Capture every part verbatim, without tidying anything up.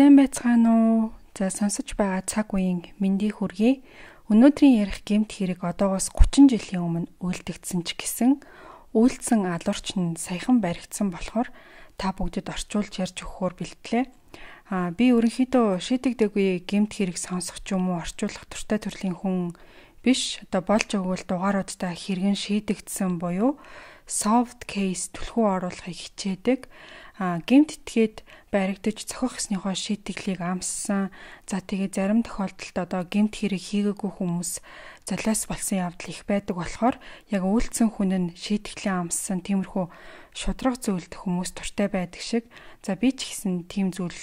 Сайн байцгаана уу? За сонсож байгаа цаг үеийн мэндийг хүргэе. Өнөөдрийн ярих гэмт хэрэг одоогоос гучин жилийн өмнө үйлдэгдсэн ч гэсэн үйлдсэн алуурч нь саяхан баригдсан болохоор та бүгдэд орчуулж ярьж өгөхөөр бэлтлээ. Аа би ерөнхийдөө шийдэгдэггүй гэмт хэрэг сонсох ч юм уу орчуулах туртай төрлийн хүн биш. Одоо болж өгвөл дугааруудтай хэрхэн шийдэгдсэн буюу soft case түлхүү оруулахыг хичээдэг. А гэмт итгээд баригдаж цохих ёсныхоо шийтгэлийг амссан. За тэгээ зарим тохиолдолд одоо гэмт хэрэг хийгээгүй хүмүүс золиос болсон явдал их байдаг болохоор яг үйлцэн хүн нь шийтгэлээ амссан тиймэрхүү шудраг зүйлд хүмүүс туртай байдаг шиг. За би ч гэсэн тийм зүйл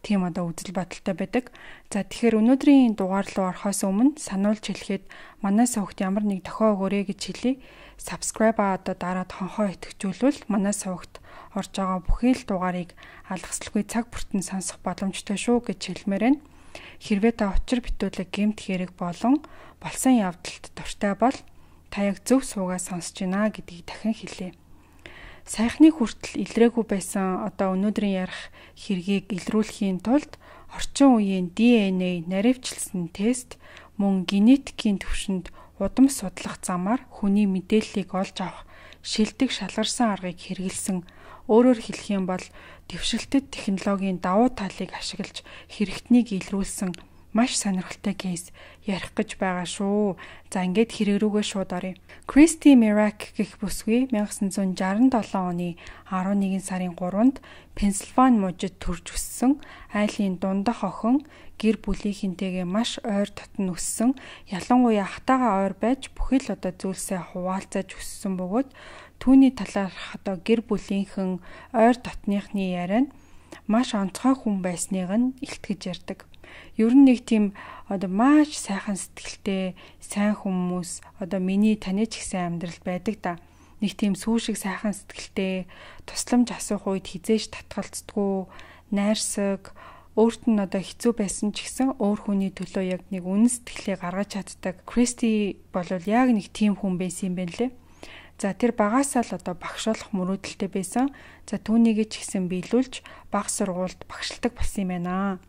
тийм одоо үзэл бодолтой байдаг. За тэгэхээр өнөөдрийн дугаар руу орохоос өмнө сануулж хэлэхэд манай сувагт ямар нэг дохио өгөөрэй гэж хэлье. Subscribe одоо дараад хонхоо итгэжүүлвэл манай сувагт орж байгаа бүхий л дугаарыг алгасалгүй цаг бүртэн сонсох боломжтой шүү гэж хэлмээр байна. Хэрвээ та учир битүүлэг гэмт хэрэг болон болсон явдалд дуртай бол та яг зөв суугаа сонсож байна гэдгийг дахин хэлье. Сайхны хүртэл илрээгүй байсан одоо өнөөдрийн ярих хэргийг илрүүлэхийн тулд орчин үеийн ди эн эй наривчлсан тест мөн генетикийн түвшинд удам судлах замаар хүний мэдээллийг олж авах шилдэг шалгарсан аргыг хэрэгэлсэн. Өөрөөр хэлэх юм бол дэвшилтэт технологийн давуу талыг ашиглаж хэрэгтнийг илрүүлсэн маш сонирхолтой кейс ярих гэж байгаа шүү. За ингээд хэрэг рүүгээ шууд оръё. Кристи Мирак гэх бүсгүй 천구 шестьдесят seven оны eleven сарын third-нд Пенсильвани мужид төрж өссөн айлын дундах охин гэр бүлийнхэнтэйгээ маш ойр дотн өссөн. Ялангуяа хатаага ойр байж бүхий л одоо зүйлсээ хуваалцаж өссөн бөгөөд түүний талаарх одоо гэр бүлийнхэн ойр дотныхны яриа нь маш онцгой хүн байсныг нь илтгэж ярьдаг. Ер нь нэг тийм одоо маш сайхан сэтгэлтэй сайн хүмүүс одоо миний таны ч гэсэн амьдралд байдаг да. Нэг тийм сүүшиг сайхан сэтгэлтэй тусламж асуух үед хизээж татгалцдаггүй, найрсаг, өөрт нь одоо хэцүү байсан ч гэсэн өөр хүний төлөө яг нэг үнэн сэтгэлээ гаргаж чаддаг. Кристи бол яг нэг тийм хүн байсан юм байна лээ. За тэр багасаа л одоо багш болох мөрөөдөлтэй байсан. За түүнийг ч гэсэн биелүүлж бага сургуульд багшилдаг болсон юм байна.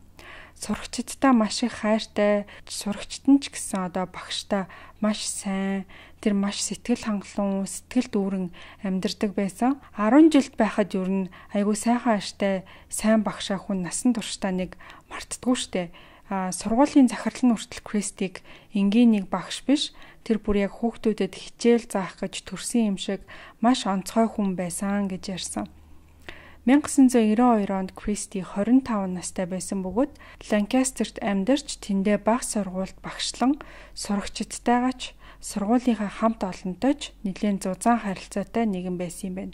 Сурагчдаа маш их хайртай, сурагчд нь ч гэсэн одоо багштай маш сайн, тэр маш сэтгэл хангалуун, сэтгэл дүүрэн амьдардаг байсан. ten жилд байхад ер нь айгүй сайхан аштай, сайн багшаа хүн насан туршдаа нэг мартдаггүй штэ. А сургуулийн захирал нь хүртэл Кристиг энгийн нэг багш биш, тэр бүр яг хүүхдүүдэд хичээл заах гэж төрсөн юм шиг маш онцгой хүн байсан гэж ярьсан. nineteen ninety-two онд Кристи twenty-five настай байсан бөгөөд Ланкастерт амьдарч тэндээ бага сургуульд багшлан сурагчдтайгаач сургуулийнхаа хамт олонтойч нэлээд зузаан харилцаатай нэгэн байсан юм байна.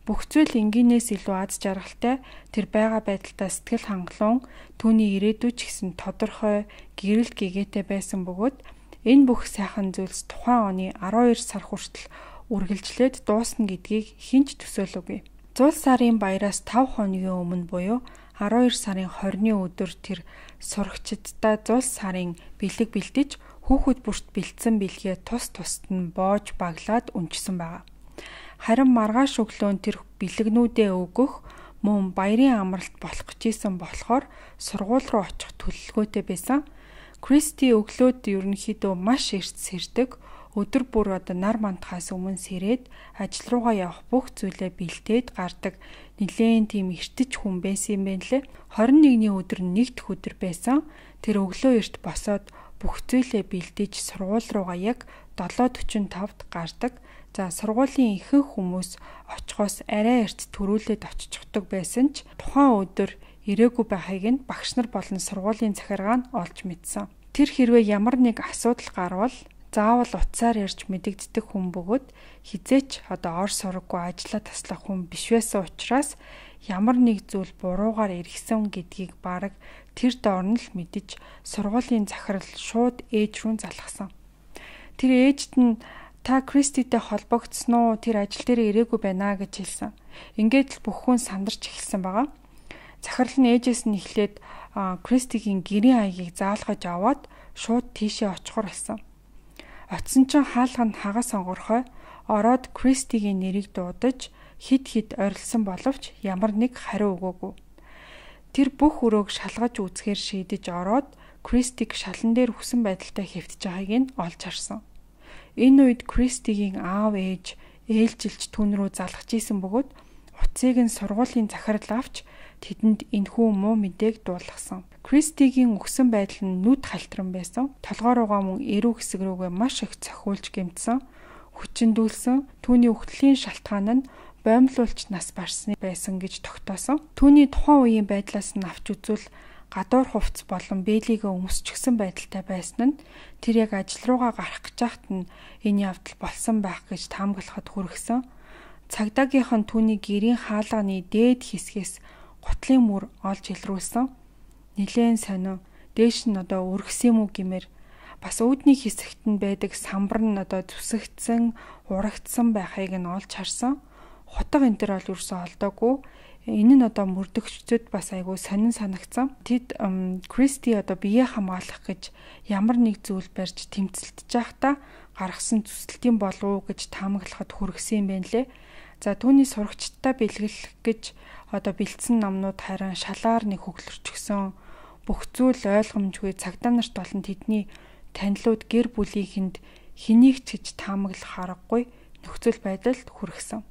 Бүх зүйл энгийнээс илүү аз жаргалтай, тэр байгаа байдалтай сэтгэл хангалуун, түүний ирээдүй ч гэсэн тодорхой, гэрэл гэгээтэй байсан бөгөөд энэ бүх сайхан зүйлс тухайн оны twelve сар хүртэл үргэлжлээд дуусна гэдгийг хинч төсөөлөөгүй. Зул сарын баяраас five хоногийн өмнө буюу twelve сарын twenty-ны өдөр тэр сурагчдаа зул сарын бэлэг бэлдэж хүүхэд бүрт бэлдсэн бэлгээ тус тусад нь боож баглаад унжсан байгаа. Харин маргааш өглөө тэр бэлэгнүүдээ өгөх мөн баярын амралт болох гэжсэн болохоор сургууль руу очих төлөвлөгөөтэй байсан. Кристи өглөөд ерөнхийдөө маш эрт сэрдэг. Өдөр бүр одоо нар мандахаас өмнө сэрээд ажил руугаа явах бүх зүйлээ бэлдээд гардаг нэлээд тийм эртэж хүн байсан юм байна лээ. twenty-one-ний өдөр нэгд өдөр байсан. Тэр өглөө эрт босоод бүх зүйлээ бэлдэж сургууль руугаа яг seven forty-five-д гардаг. За сургуулийн ихэнх хүмүүс очихоос арай эрт төрүүлээд очихдаг байсан ч тухайн өдөр ирээгүй байхыг нь багш нар болон сургуулийн захиргаа нь олж мэдсэн. Тэр хэрвээ ямар нэг асуудал гарвал заавал утсаар ярьж мэдэгддэг хүн бөгөөд хизээч одоо ор сургаггүй ажиллаа таслах хүн биш байсан учраас ямар нэг зүйл буруугаар иргсэн гэдгийг бараг тэр доор нь л мэдэж сургуулийн захирал шууд ээж рүү залгасан. Тэр ээжд нь та Криститэй холбогдсон уу? Тэр ажил дээр ирээгүй байна гэж хэлсэн. Ингээд л бүх хүн сандарч эхэлсэн байгаа. Захирал нь ээжээс нь эхлээд Кристигийн гэрийн аягийг заалгаж аваад шууд тийшээ очихор болсон. Очсон чинь хаалга нь хагас онгорхой ороод Кристигийн нэрийг дуудаж хид хид орилсон боловч ямар нэг хариу өгөөгүй. Тэр бүх өрөөг шалгаж үзэхээр шийдэж ороод Кристиг шалан дээр хүсэн байдалтай хэвтэж байгааг нь олж харсан. Энэ үед Кристигийн аав ээж ээлжилж түн рүү залгаж исэн бөгөөд утсыг нь сургуулийн захирал авч тэдэнд энэхүү муу мэдээг дуулгасан. Кристигийн өгсөн байдал нь нүд халтран байсан. Толгой руугаа мөн эрүү хэсэг рүүгээ маш их цохиулж гэмтсэн. Хүчиндүүлсэн. Түүний үхлийн шалтгаан нь боомлуулч нас барсны байсан гэж тогтоосон. Түүний тухайн үеийн байдлаас нь авч үзвэл гадуур хувцс болон бэлийгээ өмсчихсэн байдалтай байсан нь тэр яг ажил руугаа гарах гэж байхад нь энэ явдал болсон байх гэж таамаглахад хүргэсэн. Цагдаагийнх нь түүний гэрийн хаалганы дээд хэсгээс гутлын мөр олж илрүүлсэн. Нилээн сонио дээш нь одоо өргсөн юм уу гэмээр бас үүдний хэсэгт нь байдаг самбар нь одоо зүсэгдсэн, урагдсан байхыг нь олж харсан. Хутга энэ төр бол юусэн олдоогүй. Энэ нь одоо мөрдөгчдөд бас айгүй сонин санагцсан. Тэд Кристи одоо биеэ хамгаалах гэж ямар нэг зүйл барьж тэмцэлтэж байхдаа гаргасан зүсэлтийн болов уу гэж таамаглахад хүргэсэн юм байна лээ. За түүний сурагчдаа бэлгэлэх гэж одоо бэлдсэн номнууд харин шалаар нэг хөглөрчихсөн. Бүх зүйл ойлгомжгүй цагдаа нарт болон тэдний танилуд гэр бүлийнхэнд хэнийг ч гэж таамаглах аргагүй нөхцөл байдалд хүргэсэн.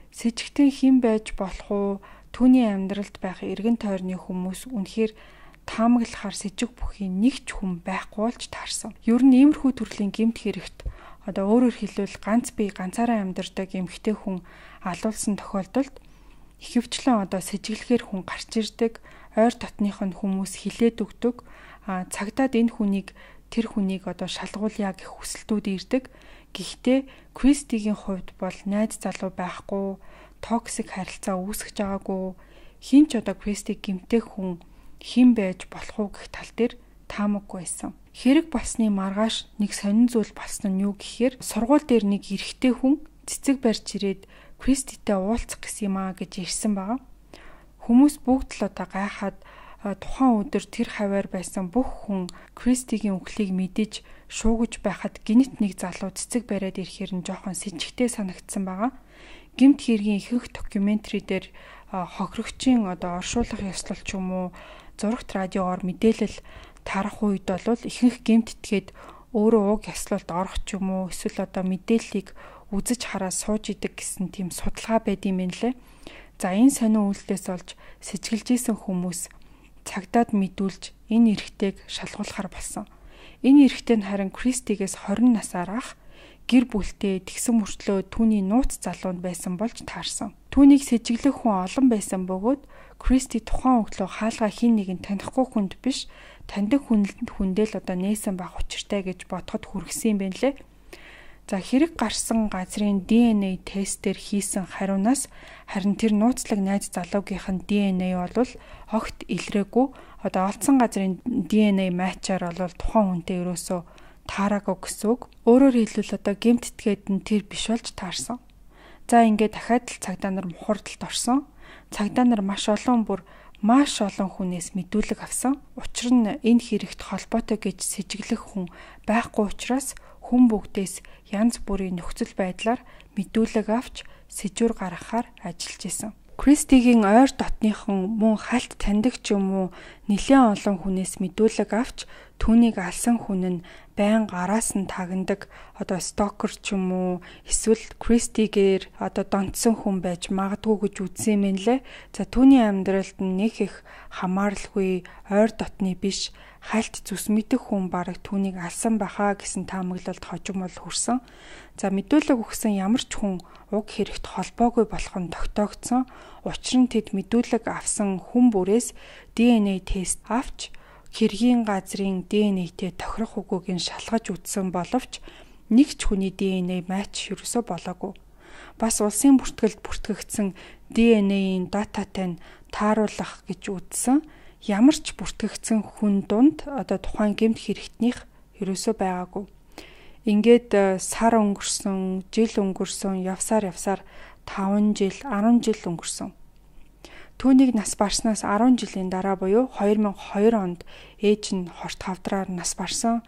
Сэжигтэн хэн байж болох уу? Түүний амьдралд байх эргэн тойрны хүмүүс үнэхээр таамаглахаар сэжиг бүхий нэг ч хүн байхгүй болж таарсан. Ер нь иймэрхүү төрлийн гэмт хэрэгт одоо өөрөөр хэлбэл ганц бие ганцаараа амьдардаг эмэгтэй хүн алуулсан тохиолдолд ихэвчлэн одоо сэжиглэхээр хүн гарч ирдэг, ойр дотных нь хүмүүс хилээд өгдөг. А цагдаад энэ хүнийг тэр хүнийг одоо шалгуулъя гэх хүсэлтүүд ирдэг. Гэхдээ Кристигийн хувьд бол найз залуу байхгүй, токсик харилцаа үүсгэж байгаагүй, хин ч одоо Кристиг гэмтэх хүн хэн байж болох уу гэх тал дээр таамаггүй байсан. Хэрэг болсны маргааш нэг сонин зүйл болсон нь юу гэхээр сургууль дээр нэг эрэгтэй хүн цэцэг барьж ирээд Криститэй уулзах гэсэн юм аа гэж ирсэн байгаа. Хүмүүс бүгд л одоо гайхаад тухайн өдөр тэр хаваар байсан бүх хүн Кристигийн үхлийг мэдэж шуугж байхад гинт нэг залуу цэцэг бариад ирэхээр нь жоохон сэжигтэй санагдсан байгаа. Гэмт хэргийн ихэнх докюментари дээр хохирогчийн одоо оршуулах ёслол ч юм уу зурагт радиогоор мэдээлэл тарах үед бол ихэнх гэмт итгээд өөрөө уг ёслолд орох ч юм уу эсвэл одоо мэдээллийг үзэж хараад сууж идэг гэсэн тийм судалгаа байд юм байна лээ. За энэ сонио үйлдэлээс олж сэжиглэж исэн хүмүүс цагдаад мэдүүлж энэ эрэгтэйг шалгуулахар болсон. Энэ эрэгтэй нь харин Кристигээс хорин насаар ах гэр бүлтэй тэгсэн мөртлөө түүний нууц залуунд байсан болж таарсан. Түүнийг сэжиглэх хүн олон байсан бөгөөд Кристи тухайн өглөө хаалгаа хин нэгэн танихгүй хүнд биш таньдаг хүндэл одоо нээсэн байх учиртай гэж бодоход хүргэсэн юм байна лээ. За хэрэг гарсан газрын ди эн эй тестээр хийсэн хариунаас харин тэр нууцлаг найз залуугийнх нь ди эн эй бол огт илрээгүй. Одоо олдсон газрын ди эн эй матчаар бол тухайн хүнтэй ерөөсөө таараагүй гэсэн үг. Өөрөөр хэлбэл одоо гэмт итгээд нь тэр биш болж таарсан. За ингээд дахиад л цагдаа нар мухардалд орсон. Цагдаа нар маш олон бүр маш олон хүнээс мэдүүлэг авсан. Учир нь энэ хэрэгт холбоотой гэж сэжиглэх хүн байхгүй учраас хүн бүгдээс янз бүрийн нөхцөл байдлаар мэдүүлэг авч сэжүүр гаргахаар ажиллаж исэн. Кристигийн ойр дотныхон мөн хальт таньдаг ч юм уу нэлээд олон хүнээс мэдүүлэг авч түүнийг алсан хүн нь байн гараас нь тагнадаг одоо стокер ч юм уу эсвэл Кристигээр одоо донтсон хүн байж магадгүй гэж үзсэн юм лээ. За түүний амьдралд нэг их хамааралгүй ойр дотны биш хальт зүс мэдэх хүн бараг түүнийг алсан байхаа гэсэн таамаглалд хожигмол хүрсэн. За мэдүүлэг өгсөн ямар ч хүн уг хэрэгт холбоогүй болох нь тогтоогдсон. Учир нь тэд мэдүүлэг авсан хүн бүрээс ди эн эй тест авч хэргийн газрын ди эн эй-тэй тохирох үгүйг нь шалгаж үзсэн боловч нэг ч хүний ди эн эй матч ерөөсөө болоогүй. Бас улсын бүртгэлд бүртгэгдсэн ди эн эй-ийн дататай нь тааруулах гэж үзсэн. Ямар ч бүртгэгдсэн хүн дунд одоо тухайн гэмт хэрэгтнийх ерөөсөө байгаагүй. Ингээд сар өнгөрсөн, жил өнгөрсөн, явсаар явсаар таван жил, арван жил өнгөрсөн. Түүнийг нас барснаас арван жилийн дараа буюу хоёр мянга и хоёр онд ээж нь хорт хавдраар нас барсан.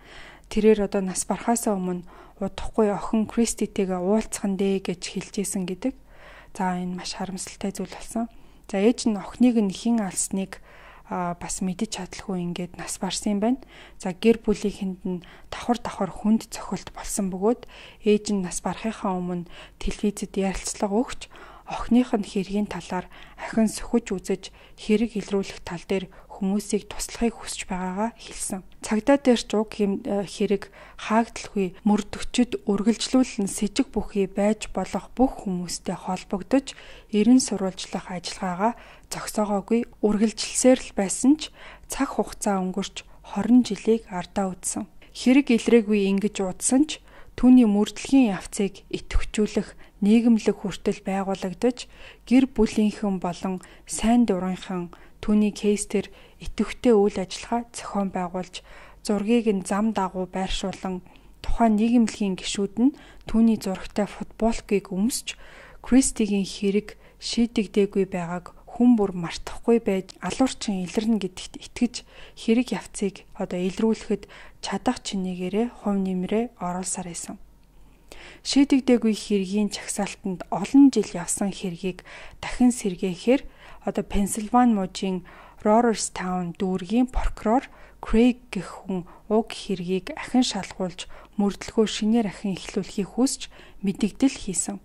Тэрээр одоо нас барахаасаа өмнө удахгүй охин Криститэйгээ уулзах нь дээ гэж хэлжсэн гэдэг. За энэ маш харамсалтай зүйл болсон. За ээж нь охиныг нь хэн алсныг а бас мэдэж чадлаггүй ингээд нас барсан юм байна. За гэр бүлийнхэнд нь давхар давхар хүнд цохилт болсон бөгөөд ээж нь нас барахынхаа өмнө телевизэд ярилцлага өгч охиных нь хэргийн талаар ахин сөхөж үзэж хэрэг илрүүлэх тал дээр хүмүүсийг туслахыг хүсэж байгаагаа хэлсэн. Цагдаа дээр ч уг хэрэг хаагдaltaгүй мөрдөгчд үргэлжлүүлэн с ижиг бүхий байж болох бүх хүмүүстэй холбогдож эрен сурвалжлах ажиллагаагаа зогсоогоогүй үргэлжилсээр л байсан ч цаг хугацаа өнгөрч хорин жилийг ардаа үдсэн. Хэрэг илрээгүй ингэж удсан ч түүний мөрдлөгийн явцыг идэвхжүүлэх нийгэмлэг хүртэл байгуулагдаж гэр бүлийнхэн болон сайн дурынхан түүний кейсээр идэвхтэй үйл ажиллагаа зохион байгуулж зургийг нь зам дагуу байршуулан тухайн нийгэмлэгийн гишүүд нь түүний зурагтай футболкийг өмсч Кристигийн хэрэг шийдэгдээгүй байгааг хүн бүр мартахгүй байж алуурчин илэрнэ гэдэгт итгэж хэрэг явцыг одоо илрүүлэхэд чадах чинээгээрээ хувь нэмрээ оруулсаар байсан. Шийдэгдээгүй хэргийн чагсаалтанд олон жил явсан хэргийг дахин сэргээхээр одоо Пенсильвани мужийн Rogerstown дүүргийн прокурор Крейг гэх хүн уг хэргийг ахин шалгуулж мөрдлөгөө шинээр ахин эхлүүлэхийг хүсч мэдэгдэл хийсэн.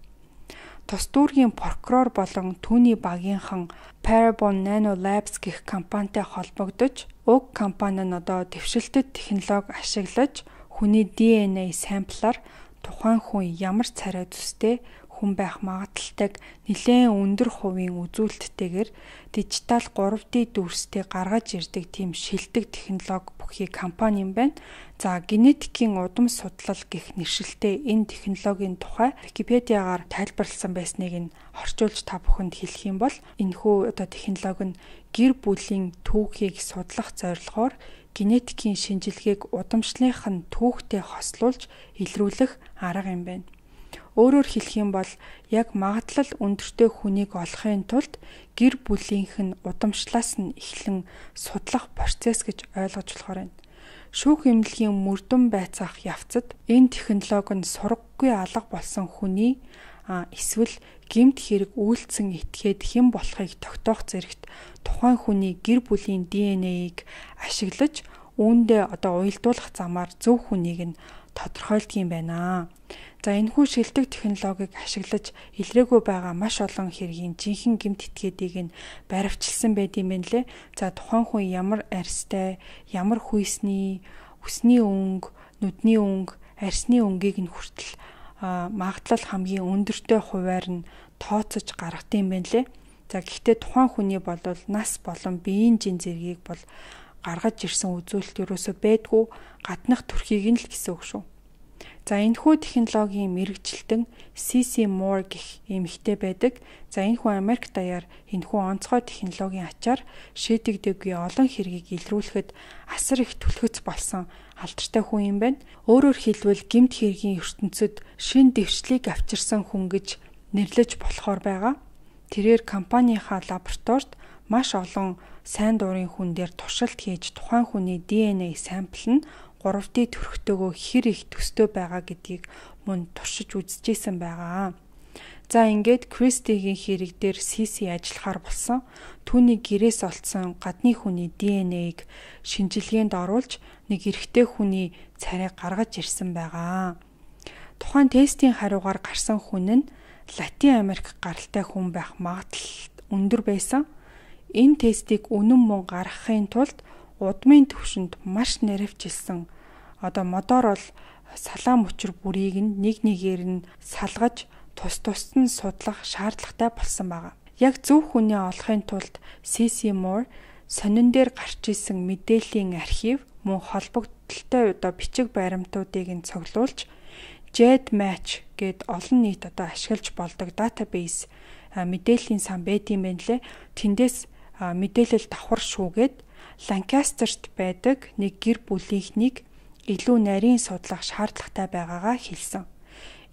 Тус дүүргийн прокурор болон түүний багийнхан Parabon Nano Labs гэх компанитай холбогдож уг компани нь одоо дэвшилтэт технологи ашиглаж хүний ди эн эй самплаар тухайн хүн ямар царай төстэй хүн байх магадaltaйг нэлээд өндөр хувийн үзүүлэлттэйгээр дижитал тhree D дүрстэй гаргаж ирдэг тийм шилдэг технологи бүхий компани юм байна. За генетикийн удам судлал гэх нэршилтэй энэ технологийн тухай Википедиагаар тайлбарласан байсныг нь орчуулж та бүхэнд хэлэх юм бол энэхүү одоо технологи нь гэр бүлийн түүхийг судлах зорилгоор генетикийн шинжилгээг удамшлынх нь түүхтэй хослуулж илрүүлэх арга юм байна. Өөрөөр хэлэх юм бол яг магадлал өндөртэй хүнийг олохын тулд гэр бүлийнх нь удамшлаас нь эхлэн судлах процесс гэж ойлгож болохоор байна. Шүүх эмнэлгийн мөрдөн байцаах явцад энэ технологи нь сургаггүй алга болсон хүний а эсвэл гэмт хэрэг үйлцэн итгээд хэн болохыг тогтоох зэрэгт тухайн хүний гэр бүлийн ди эн эй-г ашиглаж үүндээ одоо уялдуулах замаар зөв хүнийг нь тодорхойлдог юм байна. За энэхүү шилдэг технологиг ашиглаж илрээгүй байгаа маш олон хэргийн жинхэнэ гэмт этгээдийг нь баривчилсан байд юм байна лээ. За тухайн хүн ямар арьстай, ямар хүйсний, үсний өнгө, нүдний өнгө, арьсны өнгийг нь хүртэл магадлал хамгийн өндөртэй хувиар нь тооцож гаргадаг юм байна лээ. За гэхдээ тухайн хүний бол нас болон биеийн жин зэргийг бол гаргаж ирсэн үзүүлэлт ерөөсөө байдгүй гаднах төрхийг нь л гэсэн үг шүү. За энэхүү технологийн мэрэгчлэн Си Си Мор гэх эмэгтэй байдаг. За энэ хүн Америк даяар энэхүү онцгой технологийн ачаар шийдэгдээгүй олон хэргийг илрүүлэхэд асар их түлхэц болсон алдартай хүн юм байна. Өөрөөр хэлбэл гэмт хэргийн ертөнцид шин дэвшлиг авчирсан хүн гэж нэрлэж болохоор байгаа. Тэрээр компанийнхаа лабораторид маш олон сайн дурын хүн дээр туршилт хийж тухайн хүний ди эн эй сампл нь three D төрхтөөгөө хэр их төстэй байгаа гэдгийг мөн туршиж үзэжсэн байгаа. За ингээд Кристигийн хэрэг дээр Си Си ажиллахаар болсон. Түүний гэрээс олцсон гадны хүний ди эн эй-г шинжилгээнд оруулж нэг эрэгтэй хүний царайг гаргаж ирсэн байгаа. Тухайн тестийн хариугаар гарсан хүн нь Латин Америк гаралтай хүн байх магадлал өндөр байсан. Энэ тестийг үнэн мөн гаргахын тулд удмын түвшинд маш наривчилсан одоо модоор бол салаам учир бүрийг нь нэг нэгээр нь салгаж тус тусад нь судлах шаардлагатай болсон байгаа. Яг зөв хүнээ олохын тулд Си Си Мор сонин дээр гарч исэн мэдээллийн архив мөн холбогдлолтой одоо бичиг баримтуудыг нь цуглуулж GEDmatch гэд олон нийт одоо ашиглаж болдог database мэдээллийн сан байд юм байна лээ. Тэндээс мэдээлэл давхар шүүгээд Ланкастерт байдаг нэг гэр бүлийнхнийг илүү нарийн судлах шаардлагатай байгаагаа хэлсэн.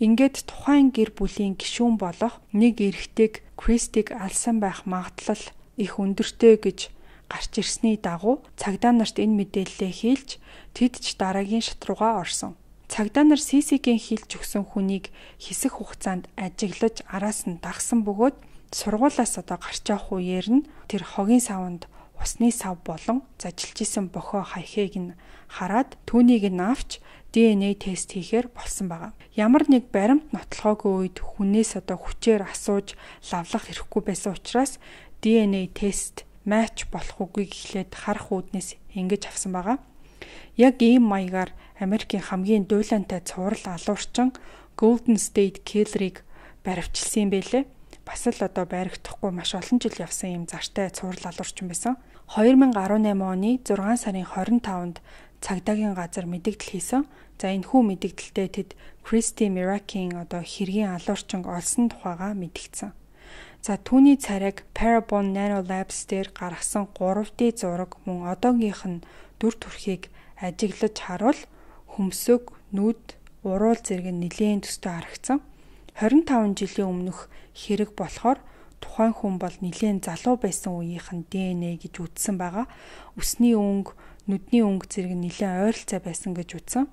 Ингээд тухайн гэр бүлийн гишүүн болох нэг эрэгтэйг Кристиг алсан байх магадлал их өндөртэй гэж гарч ирсний дагуу цагдаа нарт энэ мэдээллээ хэлж тэд ч дараагийн шат руугаа орсон. Цагдаа нар Си Сигийн хэлж өгсөн хүнийг хэсэг хугацаанд ажиглаж араас нь дагсан бөгөөд сургуулаас одоо гарч явах үеэр нь тэр хогийн савнд усны сав болон зажилж исэн бохоо хаяхыг нь хараад түүнийг нь авч ди эн эй тест хийхээр болсон байгаа. Ямар нэг баримт нотлохоогүй үед хүнээс одоо хүчээр асууж лавлах хэрэггүй байсан учраас ди эн эй тест матч болох үгүй гэхлээр харах үүднээс ингэж авсан байгаа. Яг ийм маягаар Америкийн хамгийн дуйлантай цуврал алуурчин Golden State Killer-ыг баривчилсан юм байлээ. Бас л одоо баригдахгүй маш олон жил явсан юм зартай цуврал алуурчин байсан. две тысячи десять оны зургаан сарын хорин тавнд цагдаагийн газар мэдээлэл хийсэн. За энэ хүү мэдээлэлтэй тэд Christy Miracle-ийн одоо хэргийн алуурчин олсон тухайга мэдгдсэн. За түүний царайг Parabon Nanolabs дээр гаргасан тhree D зураг мөн одоогийнх нь дүр төрхийг ажиглаж харуул хөмсөг, нүд, уруул зэрэг нэлээд төстэй харагдсан. twenty five жилийн өмнөх хэрэг болохоор тухайн хүн бол нэлээд залуу байсан үеийнх нь ди эн эй гэж үзсэн байгаа. Үсний өнгө, нүдний өнгө зэрэг нэлээд ойролцоо байсан гэж үзсэн.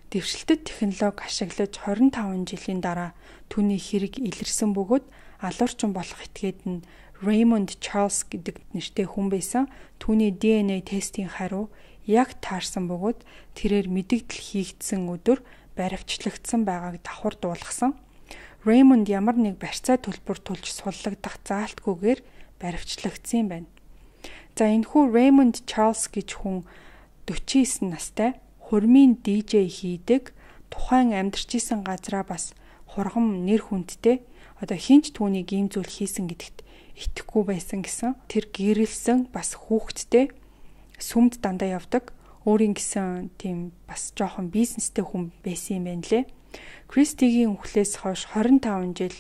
Дэвшилтэт технологи ашиглаж twenty five жилийн дараа түүний хэрэг илэрсэн бөгөөд алуурчин болох этгээд нь Raymond Charles гэдэг нэртэй хүн байсан. Түүний ди эн эй тестийн хариу яг таарсан бөгөөд тэрээр мэдэгдэл хийгдсэн өдөр баривчлагдсан байгааг давхар дуулгасан. Raymond ямар нэг барьцаа төлбөр төлж суллагдах заалтгүйгээр баривчлагдсан юм байна. За энэхүү Raymond Charles гэж хүн forty-nine настай хурмын ди джей хийдэг, тухайн амьдарч исэн газраа бас хургам нэр хүндтэй. Одоо хинч түүнийг ийм зүйл хийсэн гэдэгт итгэхгүй байсан гэсэн. Тэр гэрэлсэн бас хүүхэдтэй сүмд дандаа явдаг. Өөрийн гэсэн тийм бас жоохон бизнестэй хүн байсан юм байна лээ. Christy-гийн үхлээс хойш twenty five жил,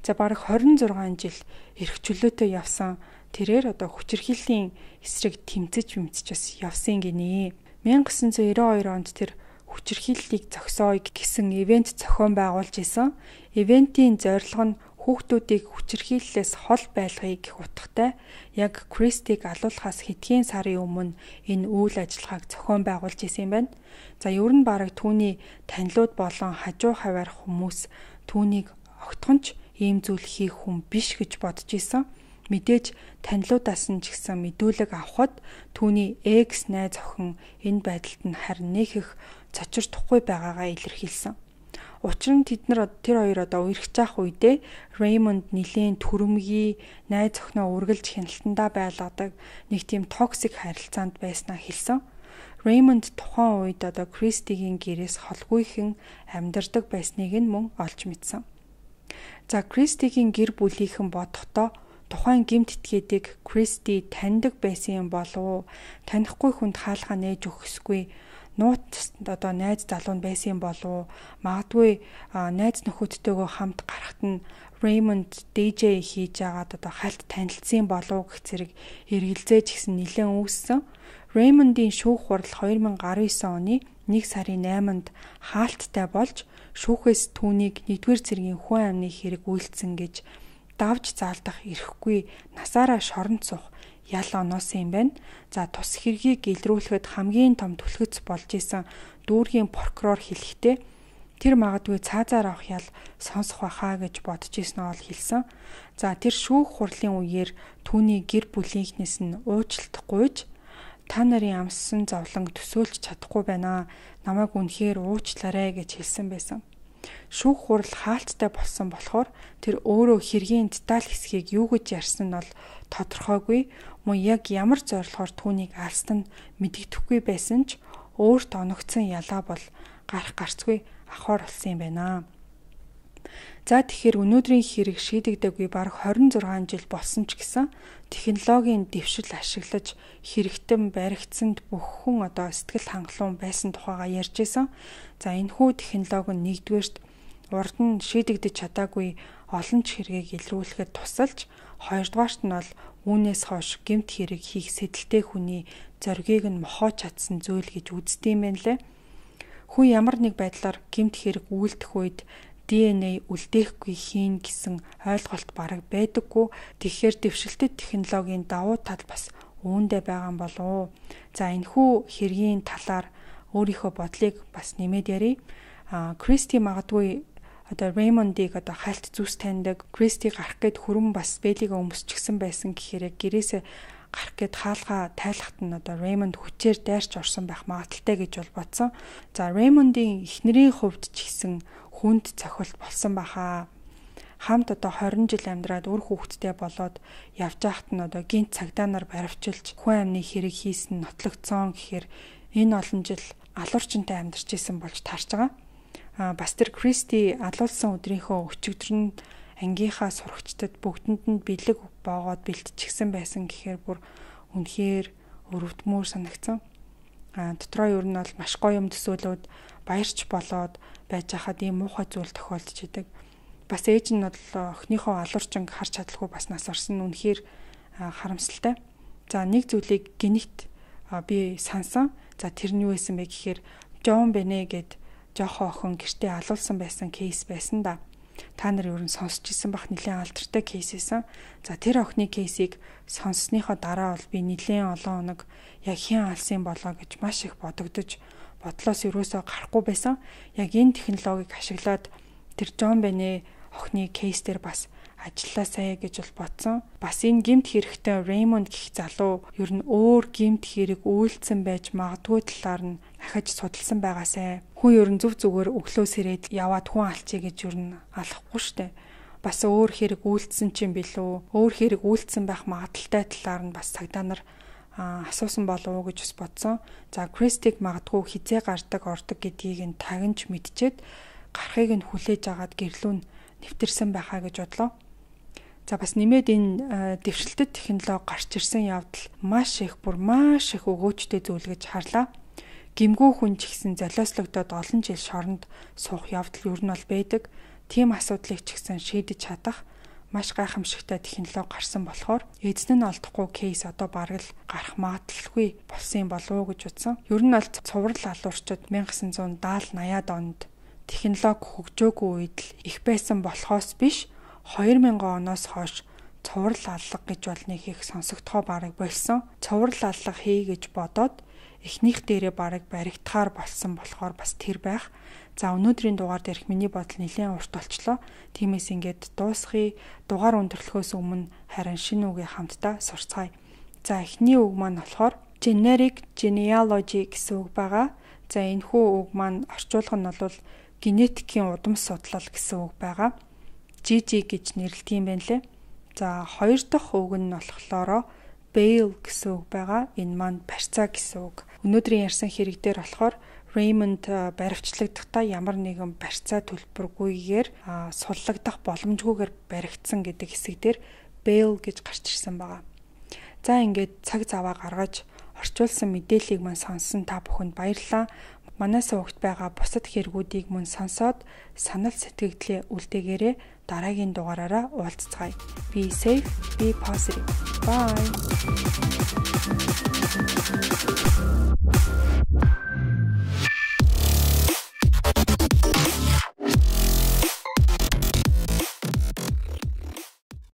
за бараг twenty-six жил эрх чөлөөтэй явсан. Тэрээр одоо хүчирхийллийн эсрэг тэмцэж вэмцэж явсан гинэ. nineteen ninety-two онд тэр хүчирхийллийг зогсооё гэсэн ивент зохион байгуулж исэн. Ивентийн зорилго нь хүүхдүүдийг хүчирхийллээс хол байлгахыг гэх утгатай. Яг Christy-г алуулахаас хэдхэн сарын өмнө энэ үйл ажиллагааг зохион байгуулж исэн юм байна. За ер нь бараг түүний танилуд болон хажуу хаваар хүмүүс түүнийг огтхонч ийм зүйл хийх хүн биш гэж бодож исэн. Мэдээж танилудаас нь ч гэсэн мэдүүлэг авахд түүний экс найз охин энэ байдалд нь харин нэг их цочирдохгүй байгаагаа илэрхийлсэн. Учир нь тэд нар тэр хоёр одоо үерхэж явах үедээ Raymond нилийн түрэмгий найз охиноо үргэлж хяналтандаа байлгадаг нэг тийм токсик харилцаанд байснаа хэлсэн. Raymond тухайн үед одоо Christy-гийн гэрээс холгүйхэн амьдардаг байсныг нь мөн олж мэдсэн. За Christy-гийн гэр бүлийнхэн бодохдоо тухайн гэмт этгээдэг Christy таньдаг байсан юм болов уу? Танихгүй хүнд хаалгаа нээж өгөхгүй нууц одоо найз залуу байсан юм болов уу? Магадгүй найз нөхөдтэйгөө хамт гарахт нь Raymond ди джей хийж агаад одоо хальт танилцсан болов гэх зэрэг эргэлзээж гисэн нэлээд үүссэн. Raymond-ийн шүүх хурал twenty nineteen оны one сарын eighth-нд хаалттай болж шүүхээс түүнийг нэгдүгээр цэргийн хүн амны хэрэг үйлдсэн гэж давж заалдах эрхгүй насаараа шоронд суух ял оноосон юм байна. За тус хэргийг илрүүлэхэд хамгийн том түлхэц болж исэн дүүргийн прокурор хэлэхдээ тэр магадгүй цаазаар авах ял сонсох байхаа гэж бодож исэн ол хэлсэн. За тэр шүүх хурлын үеэр түүний гэр бүлийнхнээс нь уучлалт гуйж та нарын амссан зовлон төсөөлж чадахгүй байна. Намайг үнэхээр уучлаарай гэж хэлсэн байсан. Шүүх хурал хаалттай болсон болохоор тэр өөрөө хэргийн деталь хэсгийг юу гэж ярьсан нь бол тодорхойгүй. Мөн яг ямар зорилгоор түүнийг алсан нь мэдэгдэхгүй байсан ч өөрт оногдсон ялаа бол гарах гарцгүй ахаар болсон юм байна. За тэгэхээр өнөөдрийн хэрэг шийдэгдэггүй бараг twenty-six жил болсон ч гэсэн технологийн дэвшил ашиглаж хэрэгтэн баригдсанд бүх хүн одоо сэтгэл хангалуун байсан тухайга ярьж исэн. За энэхүү технологи нь нэгдүгээрт урд нь шийдэгдэж чадаагүй олон ч хэргийг илрүүлэхэд тусалж, хоёрдугаарт нь бол үүнээс хойш гэмт хэрэг хийх сэтэлтэй хүний зоригийг нь мохоож чадсан зүйл гэж үздэг юм байна лээ. Хүн ямар нэг байдлаар гэмт хэрэг үйлдэх үед ди эн эй үлдээхгүй хийн гэсэн ойлголт бараг байдаггүй. Тэгэхээр дэвшилтэт технологийн давуу тал бас үүндээ байгаа юм болов уу? За энэхүү хэргийн талаар өөрийнхөө бодлыг бас нэмээд ярив. А Christy магадгүй одоо Raymond-ыг одоо хальт зүс таньдаг, Christy гарах гээд хүрэн бас Belle-ийг өмсчихсэн байсан гэхээр гэрээсээ гарах гээд хаалгаа тайлахт нь одоо Raymond хүчээр дайрч орсон байх магадaltaй гэж бол бодсон. За Raymond-ийн эхнэрийн хувьд ч гэсэн хүнд цохилт болсон баха. Хамт одоо хорин жил амьдраад үр хүүхэдтэй болоод явж байхад нь одоо гинт цагдаа нар баривчилж хүн амны хэрэг хийсэн нотлогцсон гэхээр энэ олон жил алуурчинтай амьдарч исэн болж таарч байгаа. А бас тэр Christy алуулсан өдрийнхөө өчигдөр нь ангийнхаа сурагчдад бүгдэнд нь бэлэг боогоод бэлтчихсэн байсан гэхээр бүр үнэхээр өрөвдмөр санагцсан. А дотроо ер нь бол маш гоё юм төсөөлөд баярч болоод байж хахад ийм муухай зүйл тохиолдож идэг. Бас ээж нь бол охиныхоо алуурчинг харж чадлагүй бас нас орсон нь үнэхээр харамсалтай. За нэг зүйлийг гинэгт би сансан. За тэр нь юу байсан бэ гэхээр John Benet гээд жоохоо охин гэртээ алуулсан байсан кейс байсан да. Та нар ер нь сонсч ирсэн бах нэлээд алдартай кейс байсан. За тэр охины кейсийг сонссныхоо дараа бол би нэлээд олон хоног яг хэн алсан болоо гэж маш их бодогдож бодлоос юусоо гарахгүй байсан. Яг энэ технологиг ашиглаад тэр John Benet охины кейс дээр бас ажилласаа гэж бол бодсон. Бас энэ гэмт хэрэгтэй Raymond гэх залуу ер нь өөр гэмт хэрэг үйлцэн байж магадгүй талаар нь дахиж судалсан байгаасай. Хүн ер нь зүв зүгээр өглөөс ирээд яваад хүн алчий гэж ер нь алахгүй штэ. Бас өөр хэрэг үйлцсэн ч юм билүү. Өөр хэрэг үйлцсэн байх магадaltaй талаар нь бас цагдаа нар асуусан болов уу гэж бас бодсон. За Christy-г магадгүй хизээ гардаг ордог гэдгийг нь тагинж мэдчихэд гарахыг нь хүлээж агаад гэрлүүн нэвтэрсэн байхаа гэж бодлоо. За бас нэмээд энэ дэвшилтэт технологи гарч ирсэн явдал маш их бүр маш их өгөөчтэй зүйл гэж харлаа. Гэмгүү хүн ч гэсэн золиослогдоод олон жил шоронд суух явдал ер нь бол байдаг. Тийм асуудлыг ч гэсэн шийдэж чадах маш гайхамшигтай технологи гарсан болохоор эзэн нь олдохгүй кейс одоо бараг л гарах магадлалгүй болсон болов уу гэж утсан. Ер нь бол цуврал алуурчид 천ix даатал-аяад онд технологи хөгжөөгүй үед л их байсан болохоос биш хоёр мянган оноос хойш цуврал аллага гэж бол нэг их сонсогдохоо бараг болсон. Цуврал аллага хий гэж бодоод эхнийх дээрээ бараг баригдахаар болсон болохоор бас тэр байх. За өнөөдрийн дугаар дээрх миний бодол нэлээд урт болчлоо. Тиймээс ингээд дуусхий дугаар өндөрлөхөөс өмнө харин шинэ үгээ хамтдаа сурцгаая. За эхний үг маань болохоор generic genealogy гэсэн үг байгаа. За энэхүү үг маань орчуулга нь бол генетикийн удам судлал гэсэн үг байгаа. жи жи гэж нэрлэдэг юм байна лээ. За хоёр дахь үг нь болохоор Bale гэсэн үг байгаа. Энэ маань барьцаа гэсэн үг. Өнөөдрийн ярьсан хэрэг дээр болохоор Raymond баривчлагдахтаа ямар нэгэн барьцаа төлбөргүйгээр суллагдах боломжгүйгээр баригдсан гэдэг хэсэг дээр Bale гэж гарч ирсэн байгаа. За ингээд цаг заваа гаргаж орчуулсан мэдээллийг мань сонссон та бүхэнд баярлалаа. Манай сувагт байгаа бусад хэрэгүүдийг мөн сонсоод санал сэтгэгдлээ үлдээгээрэй. Дараагийн дугаараараа уулзцгаая. Be safe, be positive. Bye.